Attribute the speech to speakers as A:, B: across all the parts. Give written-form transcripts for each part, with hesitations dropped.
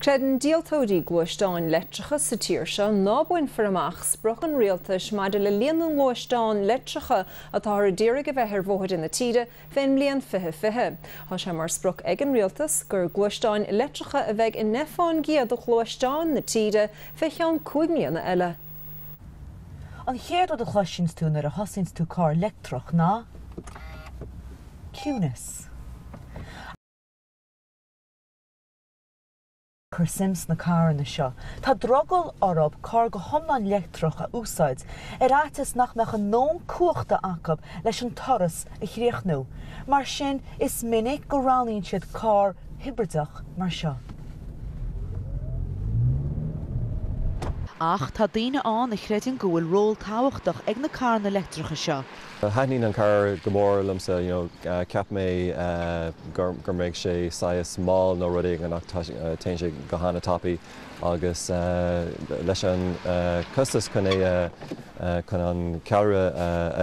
A: Creideann díoltóirí gluaisteáin leictreacha sa tír seo ná bainfear amach sprioc an rialtais maidir le líon na ngluaisteán leictreacha atáthar a d'iarraidh a bheith ar bhóithre na tíre fén mbliain 2020. Tá sé mar sprioc ag an rialtas gur gluaisteáin leictreacha a bheidh i 10% de ghluaisteáin na tíre fé cheann 5 mbliana eile.
B: An chéad rud a chloiseanns tú nuair a thosaíonns tú carr leictreach ná ciúnas. Cur suim sna carranna seo. Tá drogall orthu carr go hiomlán leictreach a úsáid, ar fhaitíos nach mbeadh a ndóthain cumhachta acu leis an turas a chríochnú. Mar sin, is minic go roghnaíonn siad carr hibrideach mar seo. Ach tá daoine ann a chreideann go bhfuil ról tábhachtach ag na carranna leictreacha seo.
C: Thaitníonn an carr go mór liomsa, you know, cheap mé go mbeidh sé saghas mall nó rud éigin ach téann sé go han-tapaidh agus leis an costas chun é chun an ceallra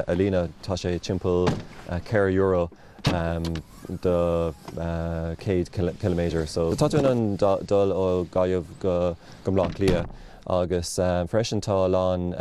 C: a líonadh tá sé timpeall 4 euro do 100 ciliméadar. So tá tú in ann dul ó Gaillimh go Baile Átha Cliath agus freisin tá a lán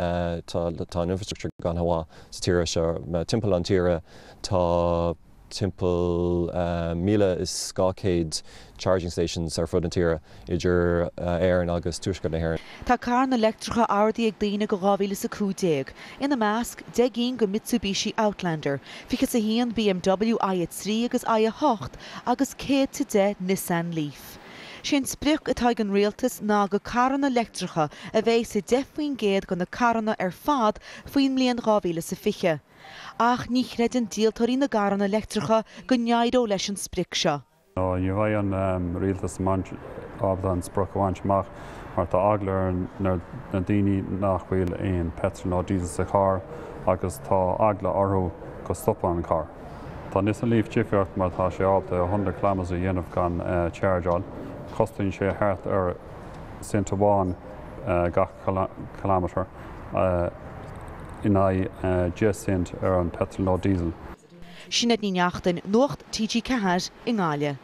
C: tá an infrastructure go han-mhaith sa tíre seo. Timpeall an tíre tá timpeall 1,200 charging stations ar fud na tíre idir Éirinn agus Tuaisceart na hÉireann.
B: Tá carranna leictreacha ordaithe ag daoine go 2015, ina measc, 10 gcinn de Mitsubishi Outlander, 21 BMW i3 agus i8 agus 110 Nissan Leaf. Sé an sprioc atá ag an rialtas ná gur carranna leictreacha a bheidh sa 10% de na carranna ar fad faoin mbliain 2020. Ach ní chreideann díoltóirí na gcarranna leictreacha go n-éireoidh leis an sprioc seo.
D: Ní bheidh an rialtas ábalta an sprioc a bhaint amach mar tá eagla ar na daoine nach bhfuil aon petrol nó diesel sa charr agus tá eagla orthu go stopfaidh an carr. Tá Nissan Leaf difríocht mar tá sé ábalta 100 kilometres a dhéanamh gan chargeáil. Cosnaíonn sé thart ar cent amháin gach kilometre in aghaidh 10 cent ar an petrol nó diesel.
B: Sinéad Ní Neachtain, Nuacht TG4 i nGaillimh.